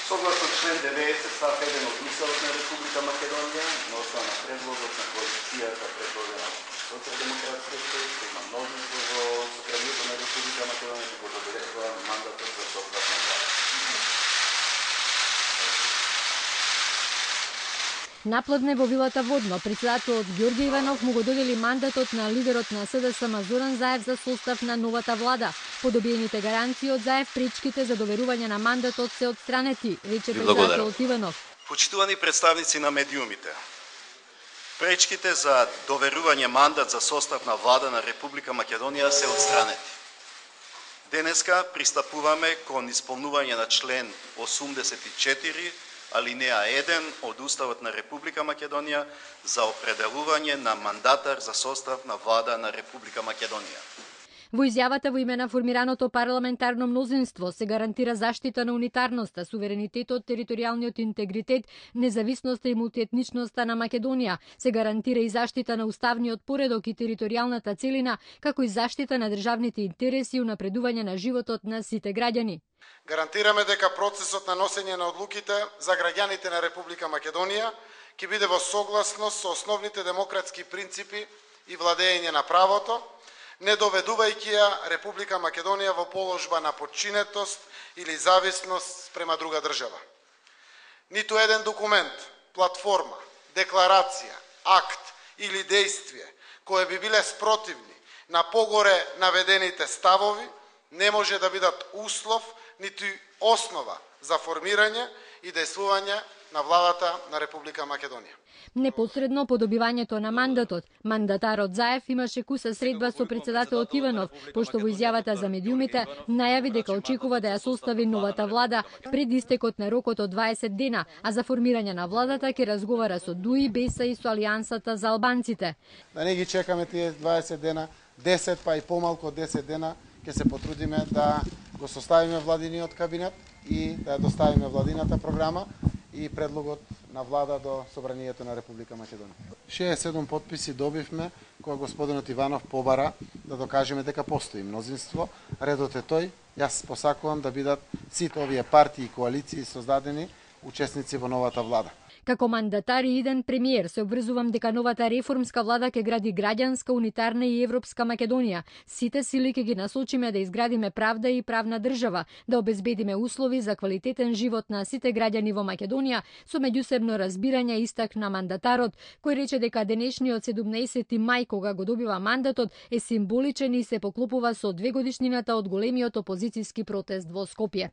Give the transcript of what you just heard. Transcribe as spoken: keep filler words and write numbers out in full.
Согласно член деветдесет став еден од Уставот на Република Македонија, на основа на предлогот на коалицијата предложена Социјалдемократска партија, има мнозинство во Сопранието на Република Македонија што го одобрува мандатот за состав на влада. Напладне во вилата Водно, председателот Ѓорѓе Иванов му го додели мандатот на лидерот на СДСМ Зоран Заев за состав на новата влада. По добиените гаранции од Заев, пречките за доверување на мандатот се отстранети, рече председателот Иванов. Почитувани представници на медиумите, пречките за доверување мандат за состав на влада на Република Македонија се отстранети. Денеска пристапуваме кон исполнување на член осумдесет и четири алинеја еден од Уставот на Република Македонија за определување на мандатар за состав на влада на Република Македонија. Во изјавата во име на формираното парламентарно мнозинство се гарантира заштита на унитарноста, суверенитетот, територијалниот интегритет, независноста и мултиетничноста на Македонија. Се гарантира и заштита на уставниот поредок и територијалната целина, како и заштита на државните интереси и унапредување на животот на сите граѓани. Гарантираме дека процесот на носење на одлуките за граѓаните на Република Македонија ќе биде во согласност со основните демократски принципи и владење на правото, не доведувајќи ја Република Македонија во положба на подчинетост или зависност према друга држава. Ниту еден документ, платформа, декларација, акт или дејствие кои би биле спротивни на погоре наведените ставови не може да бидат услов ниту основа за формирање и дејствување на владата на Република Македонија. Непосредно по добивањето на мандатот, мандатарот Заев имаше куса средба со председателот Иванов, пошто во изјавата за медиумите најави дека очекува да ја состави новата влада пред истекот на рокот од дваесет дена, а за формирање на владата ќе разговара со ДУИ, БЕСА и со Алијансата за албанците. Да не ги чекаме тие дваесет дена, десет па и помалку од десет дена, ќе се потрудиме да го составиме владиниот кабинет и да ја доставиме владината програма и предлогот на влада до Собранието на Република Македонија. шеесет и седум потписи добивме кога господинот Иванов побара да докажеме дека постои мнозинство. Редот е тој. Јас посакувам да бидат сите овие партии и коалиции создадени учесници во новата влада. Како мандатар и иден премиер се обврзувам дека новата реформска влада ќе гради граѓанска, унитарна и европска Македонија. Сите сили ќе ги насочиме да изградиме правда и правна држава, да обезбедиме услови за квалитетен живот на сите граѓани во Македонија со меѓусебно разбирање, истакна мандатарот, кој рече дека денешниот седумнаесети мај кога го добива мандатот е символичен и се поклопува со двегодишнината од големиот опозицијски протест во Скопје.